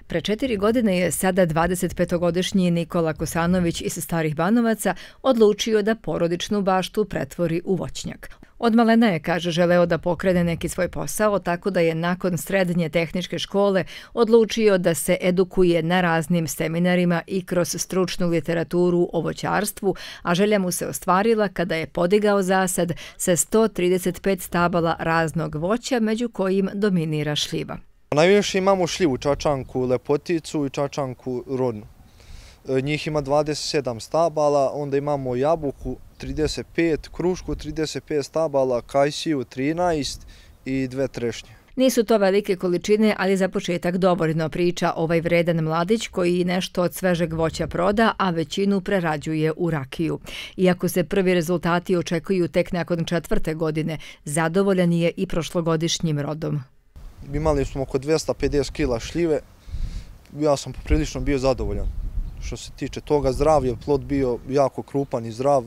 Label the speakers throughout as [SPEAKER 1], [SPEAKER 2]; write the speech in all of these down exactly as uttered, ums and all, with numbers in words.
[SPEAKER 1] Pre četiri godine je sada dvadesetpetogodišnji Nikola Kosanović iz Starih Banovaca odlučio da porodičnu baštu pretvori u voćnjak. Od malena je, kaže, želeo da pokrene neki svoj posao, tako da je nakon srednje tehničke škole odlučio da se edukuje na raznim seminarima i kroz stručnu literaturu o voćarstvu, a želja mu se ostvarila kada je podigao zasad sa sto trideset pet stabala raznog voća, među kojim dominira šljiva.
[SPEAKER 2] Najviše imamo šljivu, čačanku, lepoticu i čačanku rodnu. Njih ima dvadeset sedam stabala, onda imamo jabuku trideset pet, krušku trideset pet stabala, kajsiju trinaest i dve trešnje.
[SPEAKER 1] Nisu to velike količine, ali za početak dovoljno, priča ovaj vredan mladić koji nešto od svežeg voća proda, a većinu prerađuje u rakiju. Iako se prvi rezultati očekuju tek nakon četvrte godine, zadovoljan je i prošlogodišnjim rodom.
[SPEAKER 2] Imali smo oko dvesta pedeset kila šljive, ja sam poprilično bio zadovoljan. Što se tiče toga, zdrav je plod bio jako krupan i zdrav.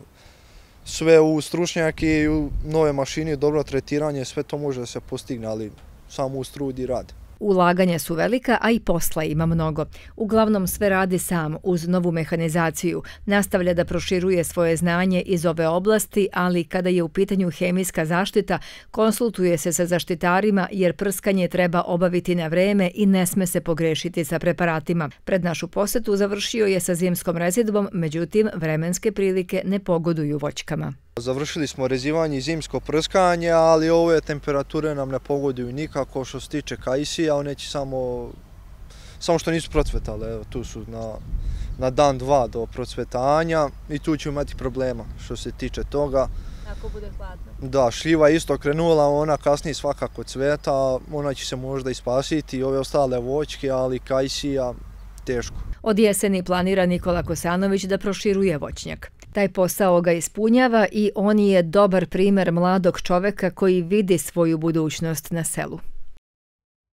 [SPEAKER 2] Sve u stručnjake i u nove mašine, dobro tretiranje, sve to može da se postigne, ali samo uz trud i rad.
[SPEAKER 1] Ulaganja su velika, a i posla ima mnogo. Uglavnom sve radi sam uz novu mehanizaciju. Nastavlja da proširuje svoje znanje iz ove oblasti, ali kada je u pitanju hemijska zaštita, konsultuje se sa zaštitarima jer prskanje treba obaviti na vreme i ne sme se pogrešiti sa preparatima. Pred našu posetu završio je sa zimskom rezidbom, međutim vremenske prilike ne pogoduju voćkama.
[SPEAKER 2] Završili smo rezivanje i zimsko prskanje, ali ove temperature nam ne pogoduju nikako. Što se tiče kajsija, one će samo, samo što nisu procvetale. Evo, tu su na, na dan dva do procvetanja i tu ćemo imati problema što se tiče toga.
[SPEAKER 1] Ako bude hladno.
[SPEAKER 2] Da, šljiva je isto krenula, ona kasnije svakako cveta, ona će se možda i spasiti, ove ostale voćke, ali kajsija teško.
[SPEAKER 1] Od jeseni planira Nikola Kosanović da proširuje voćnjak. Taj posao ga ispunjava i on je dobar primer mladog čoveka koji vidi svoju budućnost na selu.